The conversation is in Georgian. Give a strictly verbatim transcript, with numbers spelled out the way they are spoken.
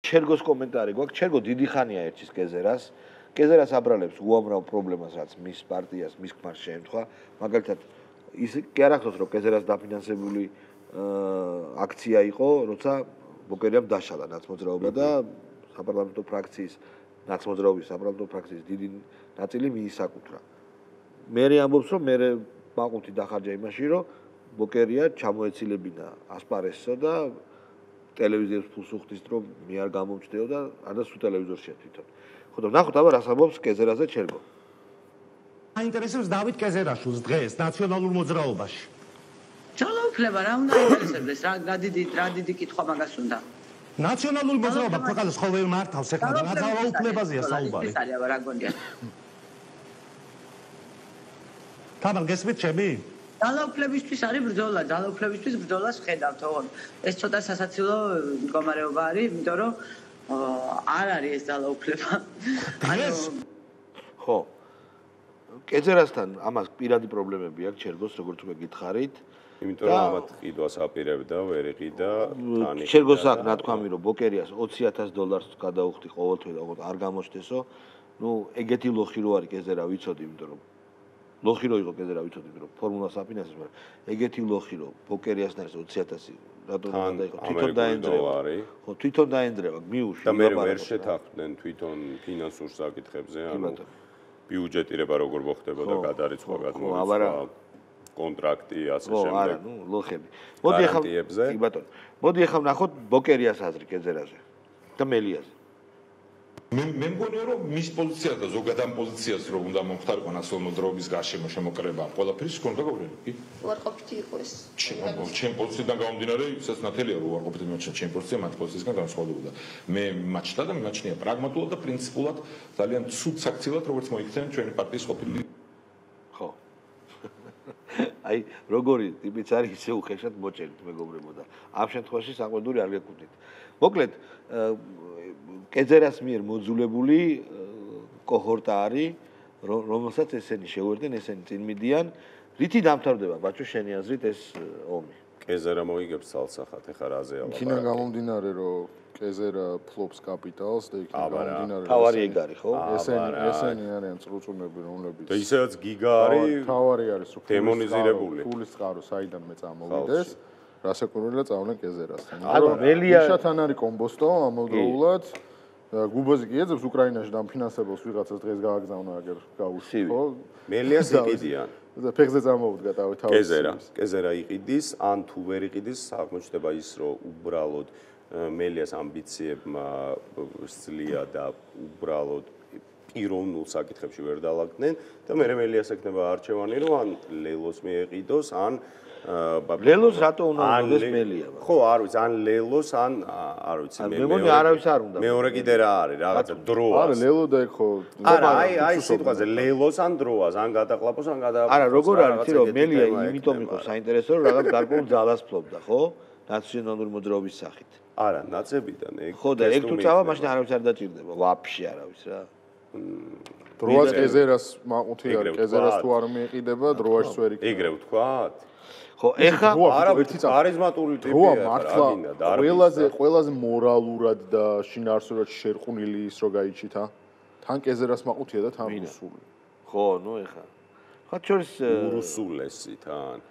ჩერგოს კომენტარი გვაქვს. ჩერგო დიდი ხანია ერჩის კეზერას. კეზერას აბრალებს უამრავ პრობლემას, რაც მის პარტიას, მის ქმარს შეემთხვა. მაგალითად, ის კი არ ახსოვს, რომ კეზერას დაფინანსებული აქცია იყო, როცა ბოკერიამ დაშალა ნაცმოძრაობა და საპარლამენტო ფრაქციის ნაცმოძრაობის საპარლამენტო ფრაქციის დიდი ნაწილი მიისაკუთრა. მე ამბობს, რომ მე მაყუთი დახარჯა იმაში, რომ ბოკერია ჩამოეცილებინა ასპარესსა და ტელევიზიებს ფულს უხდის, რომ მე არ გამომჩნდეო და არა სულ ტელევიზორშია თვითონ. ხო და ნახოთ აბა რას ამბობს კეზერაზე ჩერგო. აინტერესებს დავით კეზერაშვილს დღეს ნაციონალურ მოძრაობაში. ძალაუფლება რა უნდა აინტერესებდეს, რა რა დიდი რა დიდი კითხვა მაგას უნდა. ნაციონალური მოძრაობა ქვეყანას ყოველ მართავს ეხლა და რა ძალაუფლებაზეა საუბარი. ეს არის აბა რა გონია. თამარ გესმით ჩემი? ძალაუფლებისთვის არის ბრძოლა, ძალაუფლებისთვის ბრძოლას ხედავთ, ოღონ ეს ცოტა სასაცილო მდგომარეობა არის, იმიტომ რომ არ არის ეს ძალაუფლება. ანუ ხო. კეზერასთან ამას პირადი პრობლემები აქვს ჩერგოს, როგორც უკვე გითხარით. იმიტომ რომ ამათ ყიდვას აპირებდა, ვერ იყიდა თანი. ჩერგოს აქვს ნათქვამი, რომ ბოკერიას ოცი ათას დოლარს გადაუხდი ყოველთვე და არ გამოჩნდესო. ნუ ეგეთი ლოხი რო არის კეზერა ვიცოდი, იმიტომ რომ ლოხი რო იყო კეზერა ვიცოდი, იმიტომ რომ ფორმულას აფინანსებს, მაგრამ ეგეთი ლოხი რო ბოკერიასთან არის ოცი ათასი რატომ უნდა იყო თვითონ დაენძრევა. ხო, თვითონ დაენძრევა, მიუში. და მე ვერ შეთანხმდნენ თვითონ ფინანსურ საკითხებზე, ანუ ბიუჯეტირება როგორ მოხდებოდა, გადარიცხვა, გადმოიწყვა, კონტრაქტი, ასე შემდეგ. ხო, არა, ნუ ლოხები. მოდი ახლა კი ბატონო. მოდი ახლა ვნახოთ ბოკერიას აზრი კეზერაზე და მელიაზე. მე მე მგონია რომ მის პოზიციას და ზოგადად ამ პოზიციას რომ უნდა მომხდარიყო ნაციონალური მოძრაობის გარშემო შემოკრება ყველაფრის კონდა გავრელი კი უარყოფითი იყო ეს ჩემ პოზიციიდან გამომდინარე ისაც ნათელია რომ უარყოფითი მაჩა ჩემ პოზიცია მათ პოზიციისგან განსხვავდებოდა მე მაჩდა და მიმაჩნია პრაგმატულად და პრინციპულად ძალიან ცუდ საქციელად როგორც მოიქცნენ ჩვენი პარტიის ყოფილი ხო აი როგორი ტიპიც არის ისე უხეშად მოჭერით მეგობრებო და ამ შემთხვევაში საყვედური არ გეკუთვნით მოკლედ კეზერას მიერ მოძულებული კოჰორტა არის, რომელსაც ესენი შეუერთდნენ, ესენი წინ მიდიან. რითი დამთავრდება, ბაჩო, შენი აზრით ეს ომი? კეზერა მოიგებს ცალსახად, ეხლა რაზე ალაპარაკი? იქიდან გამომდინარე, რომ კეზერა ფლობს კაპიტალს და იქიდან გამომდინარე, თავარი ეგ არის, ხო? ესენი ესენი არიან წრუწუნები, რომლებიც და ისედაც გიგა არის, თავარი არის, დემონიზირებული. ფულის წყარო საიდან მე წამოვიდეს? რასაკურველია წავლენ კეზერასთან. ანუ მელია შათან არის კომბოსტო ამავდროულად გუბოზი კი ეძებს უკრაინაში დამფინანსებელს ვიღაცას დღეს გააგზავნა აგერ გაუსი ხო მელიას იყიდიან და ფეხზე წამოვდგა თავი თავი კეზერა კეზერა იყიდის ან თუ ვერ იყიდის აღმოჩნდება ის რომ უბრალოდ მელიას ამბიციებმა სძლია და უბრალოდ პიროვნულ საკითხებში ვერ დაალაგდნენ და მე მელიას ექნება არჩევანი რომ ან ლელოს მიეყიდოს ან ლელოს რატო უნდა მოდეს მელია? ხო, არ ვიცი, ან ლელოს, ან არ ვიცი, მე მეგონი არავის არ უნდა. მეორე კიდე რა არის, რაღაცა დროას. არა, ლელო და ეხო. არა, აი, აი სიტყვაზე ლელოს ან დროას, ან გადაყლაპოს, ან გადაყლაპოს. არა, როგორ არის, რომ მელია იმიტომ იყო საინტერესო, რომ რაღაც გარკვეულ ძალას ფლობდა, ხო? ნაციონალური მოძრაობის სახით. არა, ნაცებიდან ეგ. ხო, და ეგ თუ წავა, მაშინ არავის არ დაჭირდება, ვაფშე არავის რა. დროას კეზერას მაყუთი არის, კეზერას თუ არ მიეყიდება, დროაშს ვერ იქნება. ეგრე ვთქვათ? ხო, ეხა არა ქარიზმატული ტიპია, მართლა ყველაზე ყველაზე მორალურად და შინაარსურად შერყვნილი ის რო გაიჩითა. თან კეზერას მაყუთია და თან რუსული. ხო, ნუ ეხა. ხათ შორის რუსულესი თან.